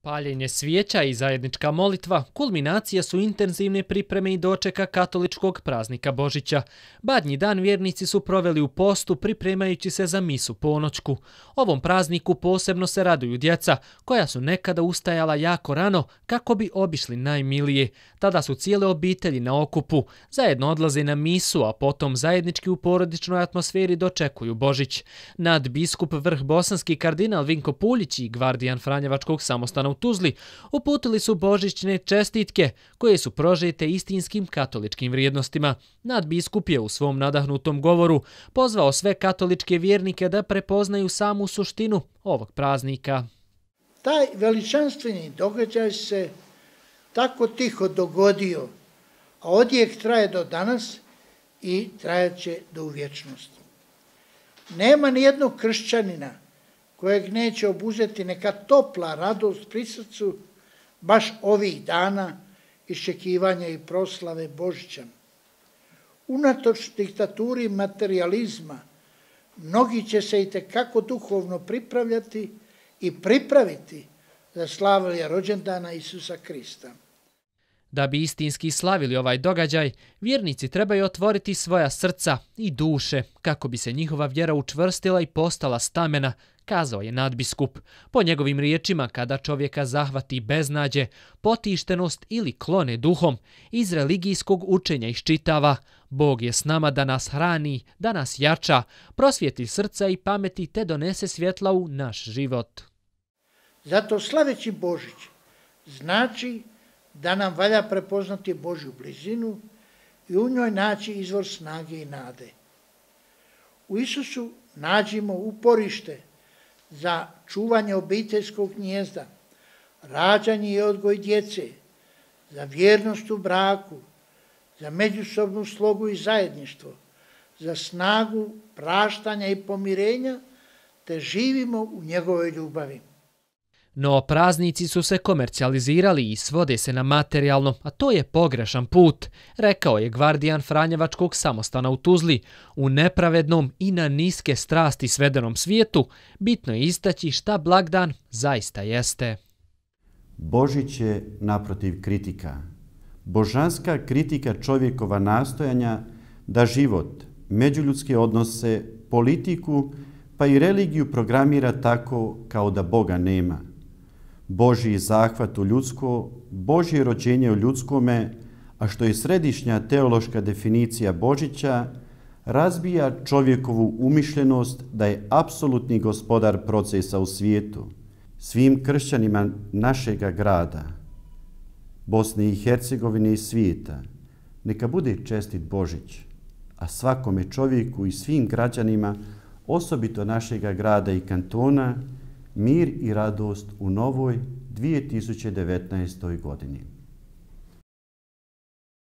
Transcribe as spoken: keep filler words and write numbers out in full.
Paljenje svijeća i zajednička molitva kulminacija su intenzivne pripreme i dočeka katoličkog praznika Božića. Badnji dan vjernici su proveli u postu pripremajući se za misu ponoćku. Ovom prazniku posebno se raduju djeca, koja su nekada ustajala jako rano kako bi obišli najmilije. Tada su cijele obitelji na okupu, zajedno odlaze na misu, a potom zajednički u porodičnoj atmosferi dočekuju Božić. Nadbiskup vrh bosanski kardinal Vinko Puljić i gvardijan Franjevačkog samostana u Tuzli uputili su božićne čestitke koje su prožete istinskim katoličkim vrijednostima. Nadbiskup je u svom nadahnutom govoru pozvao sve katoličke vjernike da prepoznaju samu suštinu ovog praznika. Taj veličanstveni događaj se tako tiho dogodio, a odjek traje do danas i trajaće do vječnosti. Nema ni jednog kršćanina kojeg neće obuzeti neka topla radost pri srcu baš ovih dana iščekivanja i proslave Božića. Unatoč diktaturi materializma, mnogi će se itekako duhovno pripravljati i pripraviti za slavlje rođendana Isusa Krista. Da bi istinski slavili ovaj događaj, vjernici trebaju otvoriti svoja srca i duše kako bi se njihova vjera učvrstila i postala stamena, kazao je nadbiskup. Po njegovim riječima, kada čovjeka zahvati beznađe, potištenost ili klone duhom, iz religijskog učenja iščitava: Bog je s nama da nas hrani, da nas jača, prosvijetli srca i pameti te donese svjetla u naš život. Zato slaveći Božić znači da nam valja prepoznati Božju blizinu i u njoj naći izvor snage i nade. U Isusu nađimo uporište za čuvanje obiteljskog gnijezda, rađanje i odgoj djece, za vjernost u braku, za međusobnu slogu i zajedništvo, za snagu praštanja i pomirenja, te živimo u njegovoj ljubavi. No praznici su se komercijalizirali i svode se na materijalno, a to je pogrešan put, rekao je gvardijan Franjevačkog samostana u Tuzli. U nepravednom i na niske strasti svedenom svijetu bitno je istaći šta blagdan zaista jeste. Božić je naprotiv kritika. Božanska kritika čovjekova nastojanja da život, međuljudske odnose, politiku pa i religiju programira tako kao da Boga nema. Božji zahvat u ljudsko, Božje rođenje u ljudskome, a što je središnja teološka definicija Božića, razbija čovjekovu umišljenost da je apsolutni gospodar procesa u svijetu. Svim kršćanima našega grada, Bosne i Hercegovine i svijeta, neka bude čestit Božić, a svakome čovjeku i svim građanima, osobito našega grada i kantona, mir i radost u novoj dvije tisuće devetnaestoj godini.